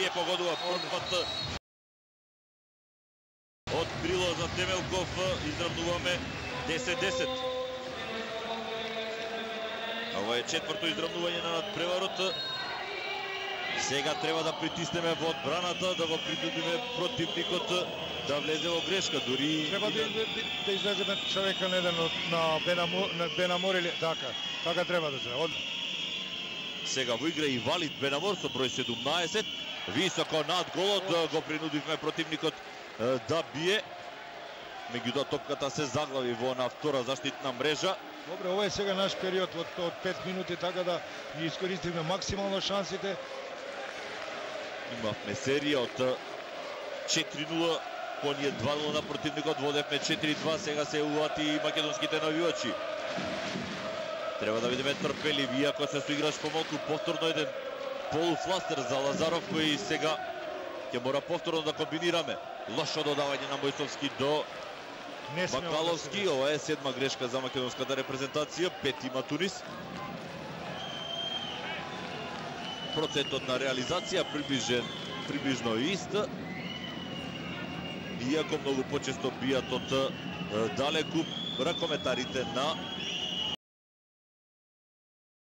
не погодува пат од крило за Темелков. Изравнуваме 10-10. Ова е четврто изравнување на надпреварот. Сега треба да притиснеме во одбраната, да го принудиме противникот да влезе во грешка. Дури треба да излеземе човека на Бенамор или така треба да се. Сега во игра и Валид Бенамор со број 17. Високо над голот го принудивме противникот да бие. Меѓутоа топката се заглави во на втора заштитна мрежа. Добре, ова е сега наш период од 5 минути, така да ги искористиме максимално шансите. Имавме серија од 4-0, по ние 2-0 на противникот, водевме 4-2, сега се увати и македонските навивачи. Треба да видиме трпеливи, иако се соиграш помалку, повторно еден полуфластер за Лазаров, кој сега ќе мора повторно да комбинираме. Лошо додавање на Мојсовски до Бакаловски, ова е 7-ма грешка за македонската репрезентација, 5 има Тунис. Процентот на реализација приближно ист. Иако многу почесто бијат од далеку, ракометарите на